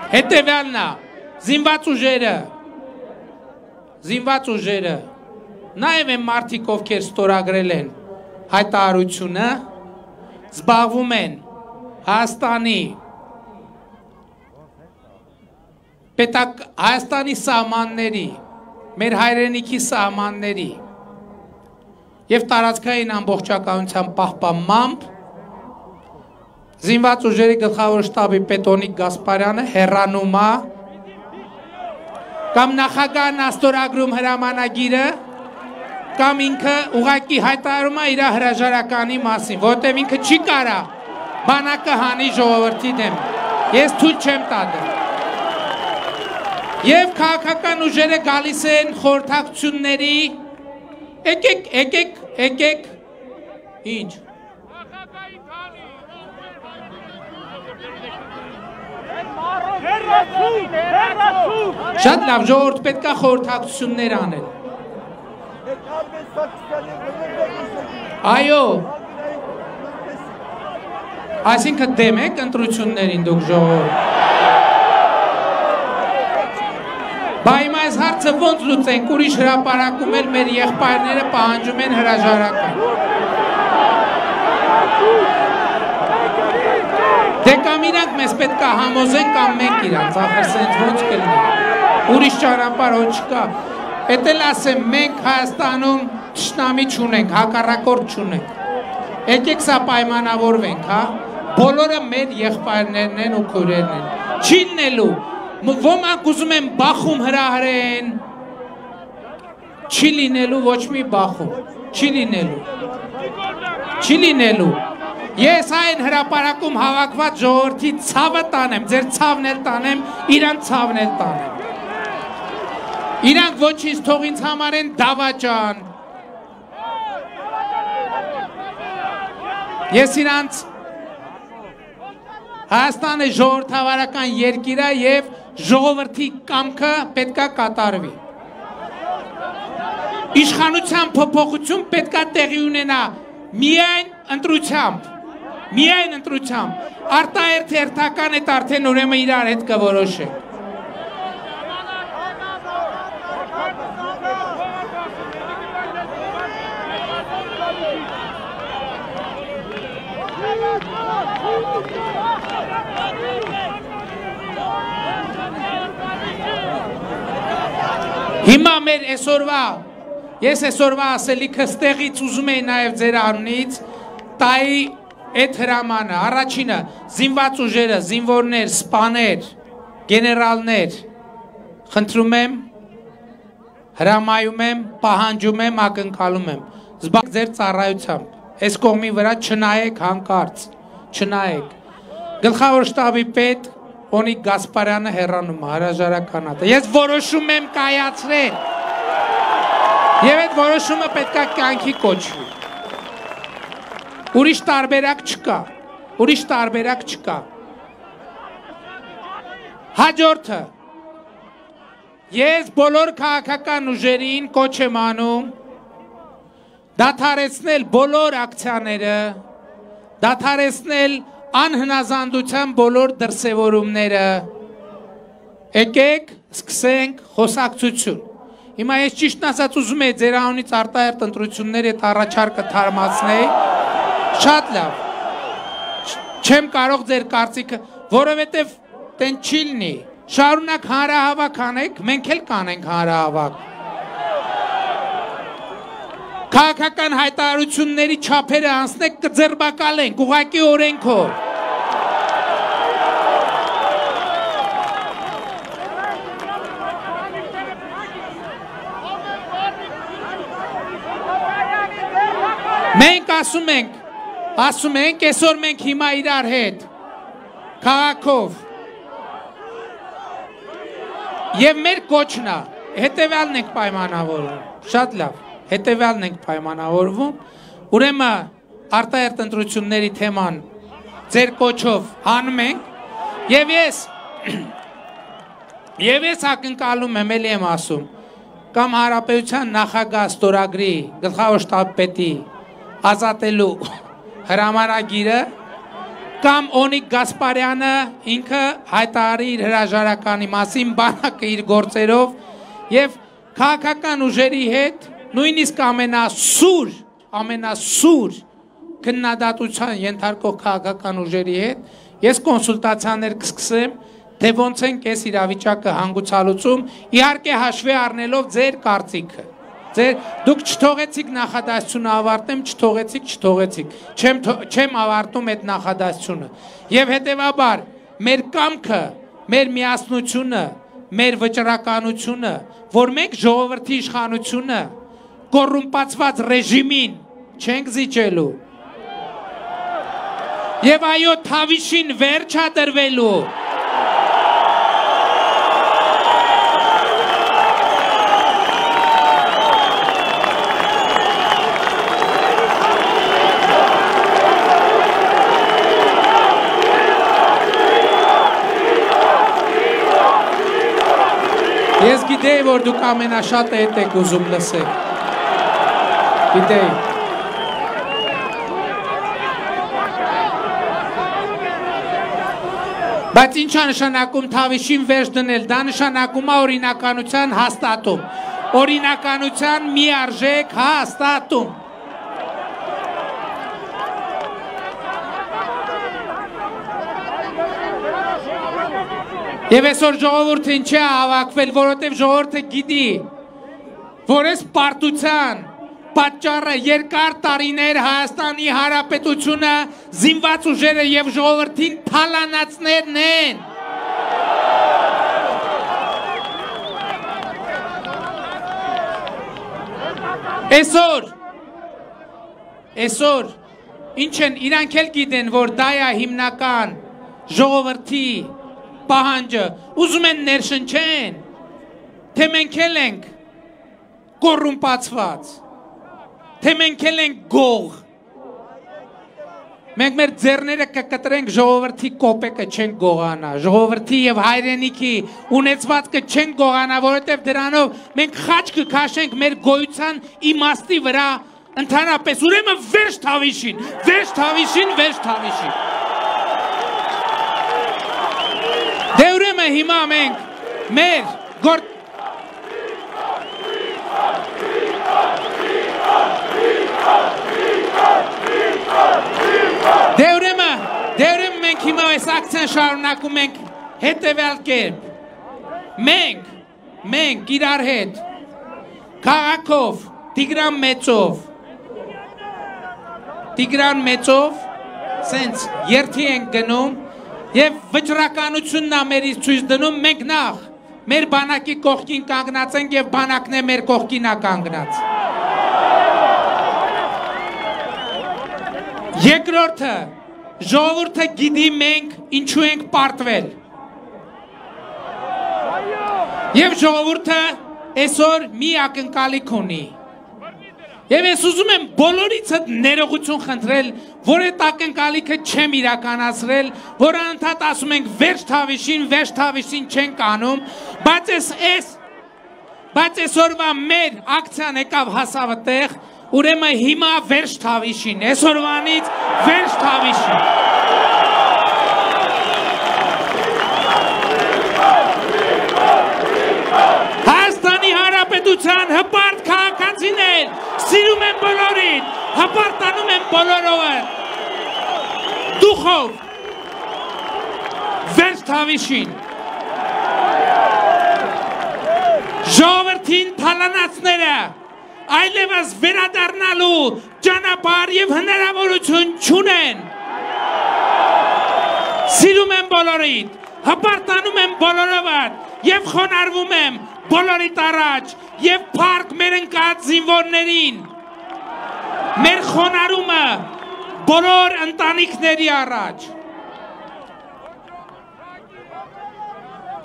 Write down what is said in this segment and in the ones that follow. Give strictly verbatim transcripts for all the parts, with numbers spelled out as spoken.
Հետևյալն է, զինված ուժերը, զինված ուժերը, նաև են մարդիկ, ովքեր ստորագրել են հայտարարությունը, զբաղվում են Հայաստանի պետակ Հայաստանի սահմանների, մեր հայրենիքի սահմանների և տարածքային ամբողջականության պահպանմամբ զինված ուժերի գլխավոր շտաբի պետ Օնիկ Գասպարյանը հեռանում է կամ նախագահն է ստորագրում հրամանագիրը կամ ինքը ուղղակի հայտարարում է իր հրաժարականի մասին, որովհետև ինքը չի կարա բանակը հանի ժողովրդի դեմ։ Ես թույլ չեմ տա դրան։ Եվ քաղաքական ուժերը գալիս են խորհրդակցությունների, եկեք, եկեք, եկեք, ինչ։ Շատ լավ, ժողովուրդ պետք է խորհրդակցություններ անել։ Այո, այսինքն դեմ եք ընտրություններին դուք ժողովուրդ։ Բա հիմա այս հարցը ոնց լուծենք, ուրիշ հրապարակում էլ մեր եղբայրները պահանջում են հրաժարական։ Դե կամ իրանք մեզ պետք է համոզեն կամ մենք իրանք, ախր սենց ոնց կլինի, ուրիշ ճանապարհ ոչ չկա։ Էդ էլ ասեմ, մենք Հայաստանում թշնամի չունենք, հակառակորդ չունենք։ Եկեք սա պայմանավորվենք, հա, բոլորը մեր եղբայրներն են ու քույրերն են։ Չի լինելու, ոմանք ուզում են բախում հրահրեն, չի լինելու ոչ մի բախում, չի լինելու, չի լինելու։ Ես այն հրապարակում հավաքված ժողովրդի ցավը տանեմ, ձեր ցավն էլ տանեմ, իրանց ցավն էլ տանեմ։ Իրանք ոչինչ թող ինձ համարեն դավաճան։ Ես իրանց Հայաստանը ժողովրդավարական երկիր է և ժողովրդի կամքը պետք է կատարվի։ Իշխանության փոփոխություն պետք է տեղի ունենա միայն ընտրությամբ, միայն ընտրությամբ, արտահերթ հերթական այդ արդեն ուրեմն իրար հետ կորոշենք։ Հիմա մեր այսօրվա, ես այսօրվա ասելիքը ստեղից ուզում էի նաև ձեր անունից տայի այդ հրամանը, առաջինը զինված ուժերը, զինվորներ, սպաներ, գեներալներ, խնդրում եմ, հրամայում եմ, պահանջում եմ, ակնկալում եմ, զբաղ ձեր ծառայությամբ, այս կողմի վրա չնայեք հանկարծ, չնայեք, գլխավոր շտաբի պետ Օնիկ Գասպարյանը հեռանում է, հրաժարականատը, ես որոշում եմ կայացրել և այդ որոշումը պետք է կյանքի կոչվի, ուրիշ տարբերակ չկա, ուրիշ տարբերակ չկա, հաջորդը, ես բոլոր քաղաքական ուժերին կոչ եմ անում, դադարեցնել բոլոր ակցիաները, դադարեցնել անհնազանդության բոլոր դրսևորումները, եկեք, սկսենք խոսակցություն։ Հիմա ես ճիշտն ասած ուզում եմ ձեր անունից արտահերթ ընտրությունների այդ առաջարկը թարմացնել, շատ լավ, չեմ կարող ձեր կարծիքը, որովհետև տեն չի լինի, շարունակ հանրահավաք անեք, մենք էլ կանենք հանրահավաք։ Քաղաքական հայտարարությունների չափերը անցնեք կձերբակալենք, ուղղակի օրենքով։ Մենք ասում ենք, ասում ենք, այսօր մենք հիմա իրար հետ, քաղաքով, և մեր կոչնա, հետևյալն ենք պայմանավորում, շատ լավ, հետևյալն ենք պայմանավորվում, ուրեմն արտահերթ ընտրությունների թեման ձեր կոչով հանում ենք, և ես, և ես ակնկալում եմ, էլի եմ ասում, կամ Հանրապետության նախագահ ստորագրի գլխավոր շտաբի պետի ազատելու հրամանագիրը կամ Օնիկ Գասպարյանը ինքը հայտարարի իր հրաժարականի մասին բանակը իր գործերով եւ քաղաքական ուժերի հետ նույնիսկ ամենասուր ամենասուր քննադատության ենթարկող քաղաքական ուժերի հետ ես կոնսուլտացիաներ կսկսեմ թե ոնց են այս իրավիճակը հանգուցալուծում իհարկե հաշվի առնելով ձեր կարծիքը ձեր դուք չթողեցիք նախադասությունը ավարտեմ չթողեցիք չթողեցիք չեմ չեմ ավարտում այդ նախադասությունը եւ հետեւաբար մեր կամքը մեր միասնությունը մեր վճռականությունը որ մենք ժողովրդի իշխանությունը կոռումպացված ռեժիմին չենք զիջելու եւ այո թավիշին վերջ է դրվելու Ես գիտեի, որ դուք ամենաշատը հետ եք ուզում լսեք, գիտեի, բայց ինչ է նշանակում թավիշին վերջ դնել, դա նշանակում է օրինականության հաստատում, օրինականության մի արժեք հաստատում, Եվ այսօր ժողովուրդը ինչ է հավաքվել, որովհետև ժողովուրդը գիտի, որ այս պարտության պատճառը երկար տարիներ Հայաստանի Հանրապետությունը զինված ուժերը եւ ժողովրդին թալանացներն են։ Այսօր, այսօր, ինչ են, իրանք էլ գիտեն, որ դա է հիմնական ժողովրդի պահանջը, ուզում են ներշնչեն, թե մենք էլ ենք կոռումպացված, թե մենք էլ ենք գող, մենք մեր ձեռները կկտրենք ժողովրդի կոպեկը չենք գողանա, ժողովրդի և հայրենիքի ունեցվածքը չենք գողանա, որովհետև դրանով մենք խաչ կքաշենք մեր գոյության իմաստի վրա ընդհանրապես, ուրեմն վերջ թավիշին, վերջ թավիշին, վերջ թավիշին Դե ուրեմն հիմա մենք մեր գոր Դե ուրեմն դե ուրեմն մենք հիմա այս ակցիան շարունակում ենք հետևյալ կերպ Մենք մենք իրար հետ քաղաքով Տիգրան Մեծով Տիգրան Մեծով սենց երթի ենք գնում Եվ վճռականությունն է մերից ցույց դնում, մենք նախ մեր բանակի կողքին կանգնած ենք եւ բանակն է մեր կողքին է կանգնած։ Երկրորդը, ժողովուրդը գիտի մենք ինչու ենք պարտվել։ Եվ ժողովուրդը այսօր մի ակնկալիք ունի։ Եվ ես ուզում եմ բոլորից հետ ներողություն խնդրել, որ այդ ակնկալիքը չեմ իրականացրել, որ անընդհատ ասում ենք վերջ թավիշին, վերջ թավիշին չենք անում, բայց ես ես, բայց այսօրվա մեր ակցիան եկավ հասավ այդտեղ, ուրեմն հիմա վերջ թավիշին, այսօրվանից վերջ թավիշին։ Հայաստանի Հանրապետության հպարտ քաղաքացիներ Սիրում են բոլորին, հպարտանում են բոլորովը, դուխով, վերջ թավիշին, ժողովրդին թալանացները, այլևս վերադառնալու ճանապարհ եւ հնարավորություն չունեն, սիրում են բոլորին, հպարտանում են բոլորովը եւ խոնարհվում եմ բոլորիդ առաջ եւ փառք մեր ընկած զինվորներին մեր խոնարհումը բոլոր ընտանիքների առաջ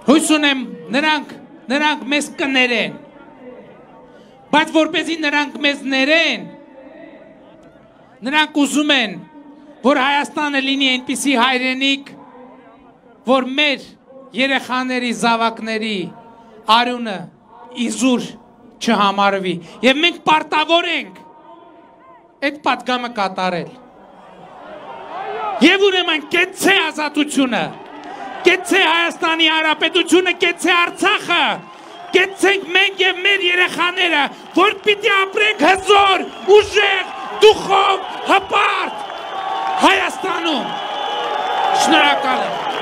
հույս ունեմ նրանք նրանք մեզ կներեն բայց որպեսզի նրանք մեզ ներեն նրանք ուզում են որ Հայաստանը լինի այնպիսի հայրենիք որ մեր երեխաների զավակների արյունը իզուր չհամարվի եւ մենք պարտավոր ենք այդ պատգամը կատարել Եվ ուրեմն կեցցե ազատությունը, կեցցե Հայաստանի Հանրապետությունը, կեցցե Արցախը, կեցցենք մենք եւ մեր երեխաները, որ պիտի ապրենք հզոր, ուժեղ, դուխով, հպարտ Հայաստանում։ Շնորհակալ եմ։